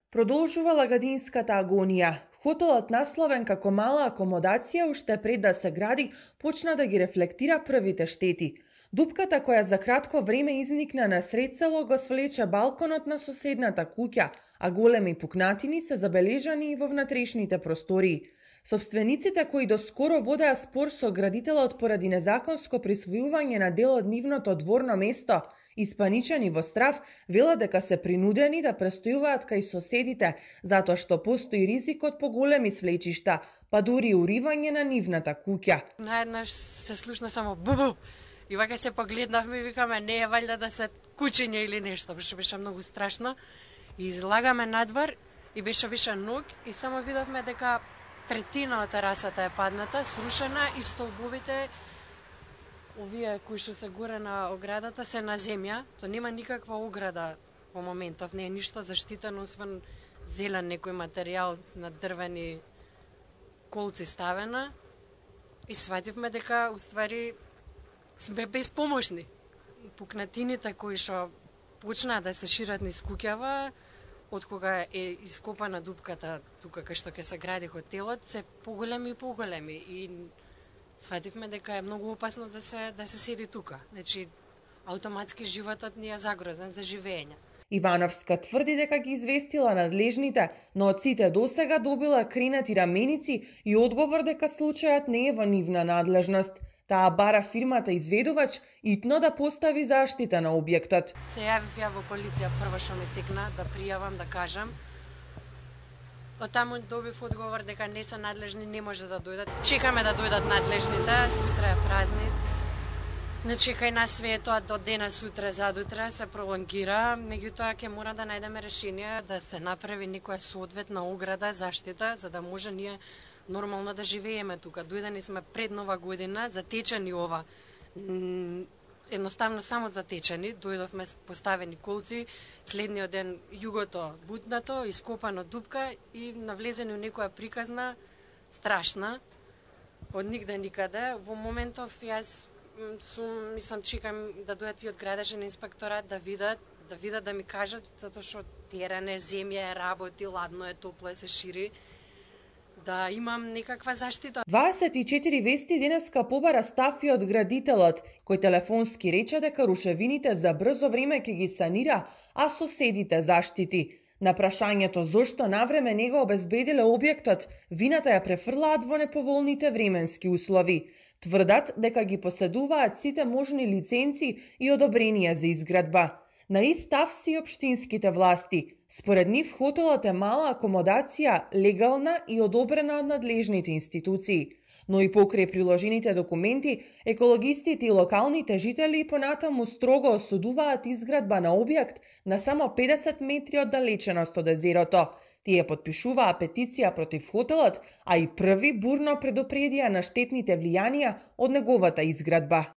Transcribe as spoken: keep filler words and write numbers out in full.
Продолжува лагадинската агонија. Хотелот насловен како мала акомодација уште пред да се гради почна да ги рефлектира првите штети. Дупката која за кратко време изникна на сред село го свлече балконот на соседната куќа, а големи пукнатини се забележани и во внатрешните простории. Собствениците кои доскоро водеа спор со градителот поради незаконско присвојување на дел од нивното дворно место, испаничени во страв, велат дека се принудени да престојуваат кај соседите, затоа што постои ризикот по големи свлечишта, па дури уривање на нивната куќа. Наеднаш се слушна само бу-бу. И вака се погледнавме и викаме не е валјда да се кучиња или нешто, што беше многу страшно. И излагаме надвор и беше више ног и само видовме дека третина од терасата е падната, срушена и столбовите овие кои што се горе на оградата се на земја, то нема никаква ограда во моментов, не е ништо заштитено освен зелен некој материјал на дрвени колци ставена и свативме дека уствари сме безпомошни. Пукнатините кои што почнаа да се шират низ куќава, од кога е ископана дупката тука кај што ќе се гради хотелот, се поголеми и поголеми и свативме дека е многу опасно да се да се седи тука. Значи автоматски животот ни е загрозен за живење. Ивановска тврди дека ги известила надлежните, но од сите досега добила кренати раменици и одговор дека случајот не е во нивна надлежност. Таа бара фирмата изведувач итно да постави заштита на објектот. Се јавив ја во полиција прво што ми текна да пријавам, да кажам. Од таму добив одговор дека не се надлежни, не може да дојдат. Чекаме да дојдат надлежните, утре е празник. Значи кај нас све е тоа до денес, утре, задутре се пролонгира, меѓутоа ќе мора да најдеме решение да се направи некоја соодветна ограда, заштита, за да може ние нормално да живееме тука. Дојдени сме пред нова година, затечени ова. Едноставно само затечени, дојдовме поставени колци, следниот ден југото бутнато, ископано дупка и навлезени у некоја приказна страшна од нигде никаде. Во моментов јас сум, мислам, чекам да дојдат и од градежен инспекторат да видат, да видат да ми кажат, затоа што терене, земја е работи, ладно е, топло е, се шири, да имам некаква заштита. дваесет и четири вести денеска побара став и од градителот, кој телефонски рече дека рушевините за брзо време ќе ги санира, а соседите заштити. На прашањето зошто навреме не го обезбедиле објектот, вината ја префрлаат во неповолните временски услови. Тврдат дека ги поседуваат сите можни лиценци и одобренија за изградба. На ист став си општинските власти. Според нив хотелот е мала акомодација, легална и одобрена од надлежните институции. Но и покрај приложените документи, екологистите и локалните жители понатаму строго осудуваат изградба на објект на само педесет метри оддалеченост од езерото. Тие потпишуваа петиција против хотелот, а и први бурно предупредија на штетните влијанија од неговата изградба.